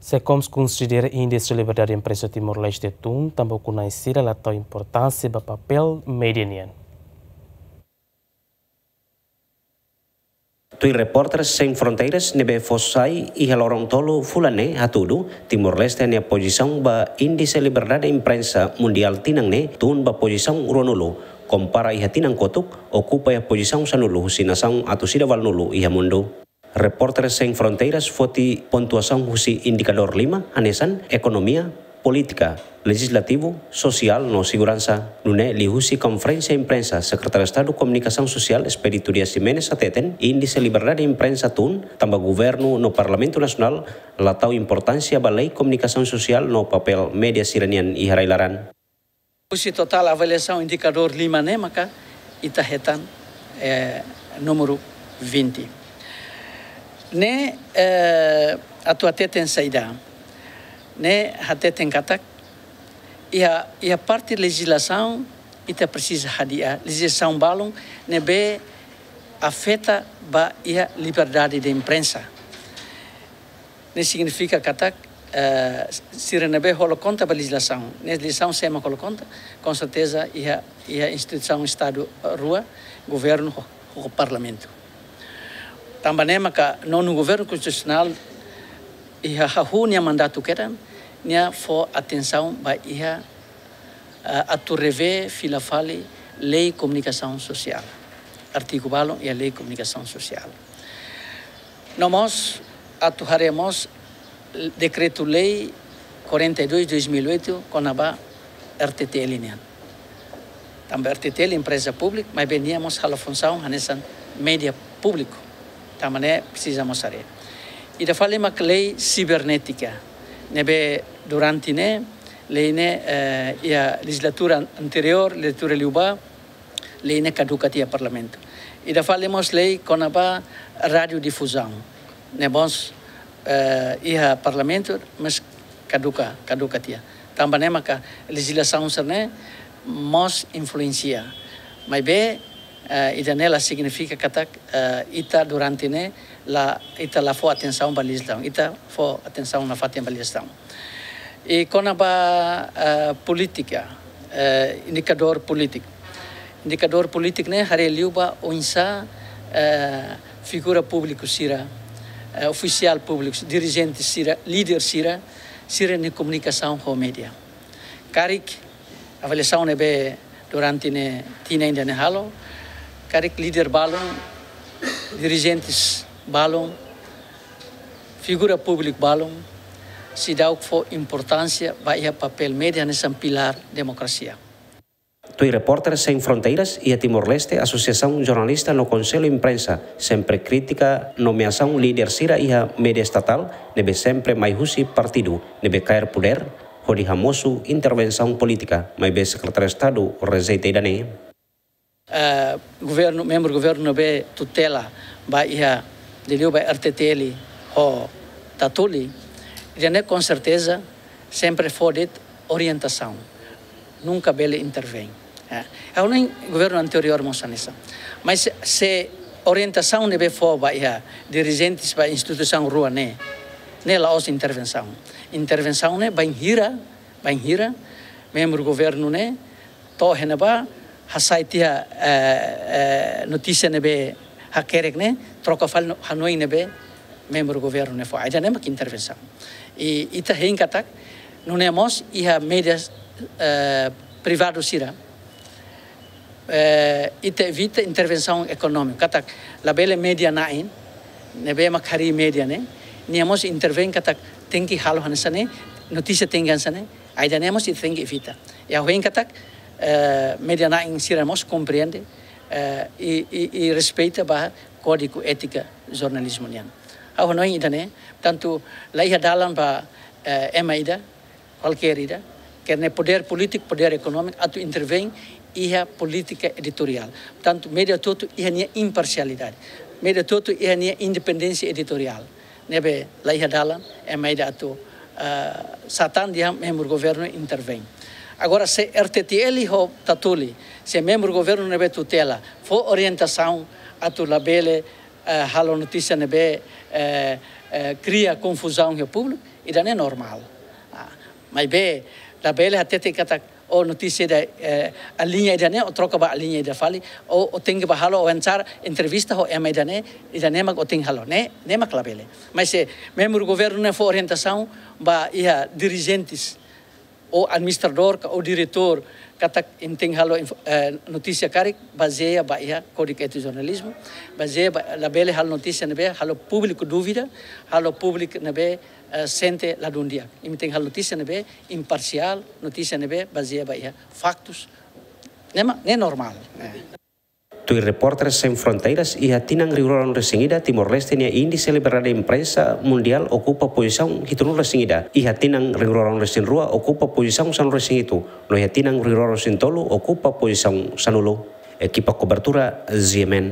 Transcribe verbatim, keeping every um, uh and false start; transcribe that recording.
SEKOMS konsidera Índise Liberdade Imprensa Timor-Leste tun, tanba ukun-na'in sira la tau importánsia ba papél média nian. Tuir Repórteres Sem Fronteiras ne'ebé fó sai iha loron tolu fulan ne'e hatudu, Timor-Leste nia pozisaun ba Índise Liberdade Imprensa Mundiál tinan ne'e tun ba pozisaun ruanulu, kompara iha tinan kotuk, okupa iha pozisaun sanulu husi nasaun atus ida valunulu iha mundu. Repórteres Sem Fronteiras foti pontuasaun husi indikadór lima, hanesan ekonomia, polítika, lejizlativu, sosiál no seguransa. Nune'e liuhusi konferénsia imprensa, Sekretáriu Estadu Komunikasaun Sosiál Expedito Dias Ximenes hateten, Índise Liberdade Imprensa tun, tanba governu no Parlamentu Nasionál la tau importánsia ba lei komunikasaun sosiál no papél média sira-nian iha rai-laran. Husi totál avaliasaun indikadór lima ne'e maka ita hetan, eh, númeru vinte. Ne'e, eh, atu hateten saida? Ne'e hateten katak iha, iha parte lejizlasaun ita presiza hadi'a lejizlasaun balun ne'ebé afeta ba iha liberdade de imprensa. Ne'e signifika katak, eh, sira ne'ebé holo kontra ba lejizlasaun. Ne'e lejizlasaun sé mak holo kontra, konserteza iha, iha instituisaun Estadu, eh, rua, governu ho, ho parlamentu. Tanba ne'e maka nonu governu konstitusionál iha hahú nia mandatu kedan, nia fó atensaun ba iha, eh, atu revee fila fali lei komunikasaun sosiál. Artigu balun iha lei komunikasaun sosiál. No mós, atu haree mós dekretu-lei quarenta e dois dois mil e oito kona-ba R T T L nian. Tanba R T T L empreza públika, maibé nia mós halo funsaun hanesan média públiku. Tanba ne'e presiza mós haree. Ida fali mak lei sibernétika. Ne'ebé durante ne'e, lei ne'e, eh, iha lejizlatura anteriór, lejizlatura liubá, lei ne'e kaduka tiha iha parlamentu. Ida fali mós lei kona-ba radiodifuzaun. Ne'e mós, eh, iha parlamentu, mas kaduka, kaduka tiha. Tanba ne'e maka lejizlasaun sira-ne'e mós influensia. Maibé, eh, ida-ne'e la signifika katak, eh, ita durante ne'e la, ita la fó atensaun ba lejizlasaun. Ita fó atensaun nafatin ba lejizlasaun. I kona-ba, eh, polítika, eh, indikadór polítiku. Indikadór polítiku ne'e haree liu ba oinsá, eh, figura públiku sira, eh, ofisiál públiku, dirijente sira, líder sira, sira-nia komunikasaun ho média. Karik avaliasaun ne'ebé durante ne'e tinan ida-ne'e halo, karik líder balun, dirijentes balun, figura públiku balun, seidauk fó importánsia ba iha papél média hanesan pilár demokrasia. Tuir Repórteres Sem Fronteiras, iha Timor-Leste, Asosiasaun Jornalista no Konsellu Imprensa sempre kritika nomeasaun líder sira iha média estatál, ne'ebé sempre mai husi partidu ne'ebé kaer podér, hodi hamosu intervensaun polítika, maibé Sekretáriu Estadu rejeita ida-ne'e. Eh, governu, membru governu ne'ebé tutela ba iha, liuliu ba R T T L ho Tatoli, ida-ne'e konserteza sempre fó de'it orientasaun, nunka bele intervein. Eh, ha'u hanoin governu anteriór mós hanesan. Mas se, se orientasaun ne'ebé fó ba iha dirijentes ba instituisaun rua ne'e, ne'e la'ós intervensaun. Intervensaun ne'e bainhira, bainhira membru governu ne'e to'o iha ne'ebá, hasai tiha, eh, eh, notísia ne'ebé hakerek ne'e, troka fali no hanoin ne'ebé membru governu ne'e fó. Ida-ne'e mak intervensaun. I ita hein katak, nune'e mós iha média, eh, privadu sira, eh, ita evita intervensaun ekonómika. Katak labele média na'in, ne'ebé mak harii média ne'e, nia mós intervein katak tenke halo hanesan ne'e, notísia tenke hanesan ne'e, ida-ne'e mós ita tenke evita. I ha'u hein katak, eh, média na'in sira mós komprende, eh, i, i, i respeita ba kódigu étika jornalizmu nian. Ha'u hanoin ida-ne'e, tantu la iha dalan ba, eh, ema ida, kualkér ida, keta podér polítiku, podér ekonómiku, atu intervein iha polítika editoriál. Tantu média hotu-hotu iha nia imparsialidade. Média hotu-hotu iha nia independénsia editoriál. Ne'ebé la iha dalan ema ida atu, ah, sá tan dehan membru governu intervein. Agora, se R T T L ho Tatoli, se membru governu ne'ebé tutela, fó orientasaun atu labele, eh, halo notísia ne'ebé, eh, eh, kria konfuzaun iha públiku, Ida-ne'e normál. Ah, maibé labele hatete katak, oh, notísia ida, eh, liña ida-ne'e, ó troka ba liña ida fali, ó, ó tenke bá halo wawancara, entrevista ho ema ida-ne'e, ida-ne'e mak ó tenke halo, ne'e, ne'e mak labele. Mas se membru governu ne'e fó orientasaun ba iha dirijentes, ou administradór ka ou diretór, katak imi tenke halo info-, eh, notísia karik, bazeia ba iha Kódigu Étiku Jornalizmu, bazeia ba, labele halo notísia ne'ebé halo públiku dúvida, halo públiku ne'ebé, eh, sente ladún di'ak. Imi tenke halo notísia ne'ebé imparsiál, notísia ne'ebé bazeia ba iha faktus. Ne'e mak, ne'e normál. Eh. Tuir Repórteres Sem Fronteiras, iha tinan rihun rua ruanulu-resin-ida, Timor-Leste nia índise liberdade imprensa mundiál okupa pozisaun hitunulu-resin-ida, iha tinan rihun rua ruanulu-resin-rua okupa pozisaun sanulu-resin-hitu, no iha tinan rihun rua ruanulu-resin-tolu okupa pozisaun sanulu. Ekipa kobertura, G M N.